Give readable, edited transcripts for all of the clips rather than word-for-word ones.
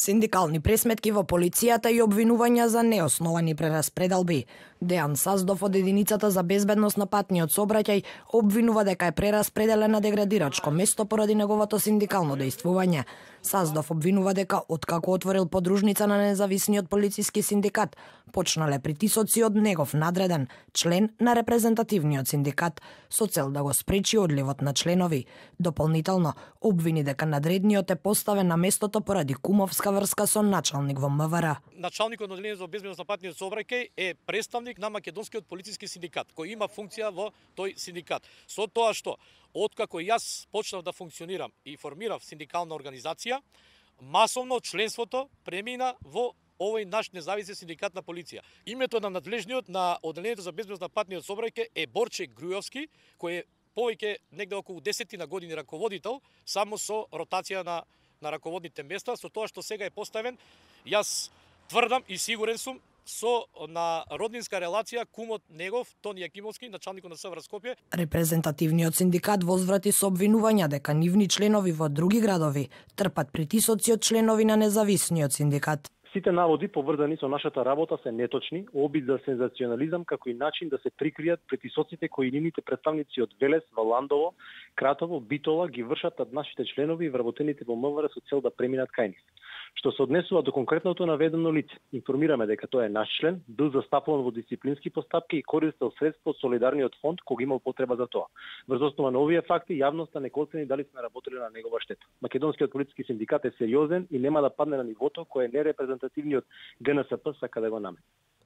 Синдикални пресметки во полицијата и обвинувања за неосновани прераспределби. Дејан Саздов од единицата за безбедност на патниот сообраќај обвинува дека е прераспределен на деградирачко место поради неговото синдикално дејствување. Саздов обвинува дека откако отворил подружница на независниот полициски синдикат, почнале притисоци од негов надреден, член на репрезентативниот синдикат, со цел да го спречи одливот на членови. Дополнително обвини дека надредниот е поставен на местото поради кумовска врска со началник во МВР. Началникот на одделение за безбедност на патниот сообраќај е представник на македонскиот полициски синдикат, кој има функција во тој синдикат. Со тоа што откако јас почнав да функционирам и формирав синдикална организација, масовно членството премина во овој наш независен синдикат на полиција. Името на надлежниот на одделението за безбедност на патниот сообраќај е Борче Грујовски, кој е повеќе негде околу 10 на години раководител, само со ротација на раководните места, со тоа што сега е поставен, јас тврдам и сигурен сум, со на роднинска релација кумот негов, Тони Јакимовски, началникот на СВР Скопје. Репрезентативниот синдикат возврати со обвинувања дека нивни членови во други градови трпат притисоци од членови на независниот синдикат. Сите наводи поврзани со нашата работа се неточни, обид за сензационализам како и начин да се прикријат притисоците кои нивните представници од Велес, Валандово, Кратово, Битола ги вршат над нашите членови и вработените во МВР со цел да преминат кај нив. Што се однесува до конкретното наведено лице, информираме дека тој е наш член, бил застапуван во дисциплински постапки и користел средства од Солидарниот фонд кога имал потреба за тоа. Врз основа на овие факти, јавноста не оцени дали сме работеле на негова штета. Македонскиот полициски синдикат е сериозен и нема да падне на нивото кое нерепрезентативниот ГНСП сака да го наметне.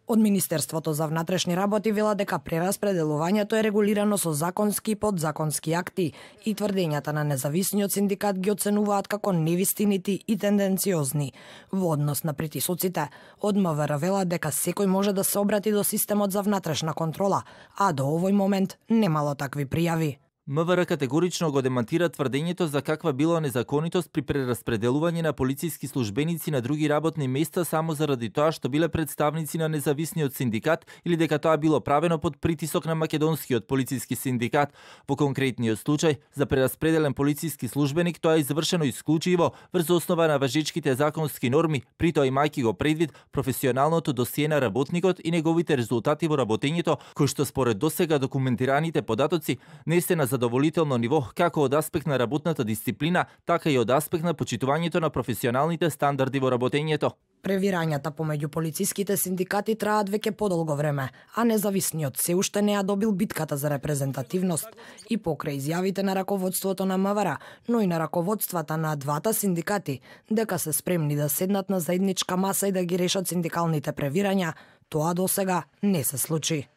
Од Министерството за внатрешни работи вела дека прераспределувањето е регулирано со законски и подзаконски акти и тврдењата на независниот синдикат ги оценуваат како невистинити и тенденциозни. Во однос на притисоците, од МВР вела дека секој може да се обрати до системот за внатрешна контрола, а до овој момент немало такви пријави. МВР категорично го демантира тврдењето за каква била незаконитост при прераспределување на полициски службеници на други работни места само заради тоа што биле представници на независниот синдикат или дека тоа било правено под притисок на македонскиот полициски синдикат. Во конкретниот случај, за прераспределен полициски службеник тоа е извршено исклучиво врз основа на важечките законски норми, при тоа имајќи го предвид професионалното досие на работникот и неговите резултати во работењето, кои што според досега документираните податоци не се на задоволително ниво како од аспект на работната дисциплина, така и од аспект на почитувањето на професионалните стандарди во работењето. Превирањата помеѓу полициските синдикати траат веќе подолго време, а независниот се уште не ја добил битката за репрезентативност и покрај изјавите на раководството на МВР, но и на раководствата на двата синдикати дека се спремни да седнат на заедничка маса и да ги решат синдикалните превирања, тоа досега не се случи.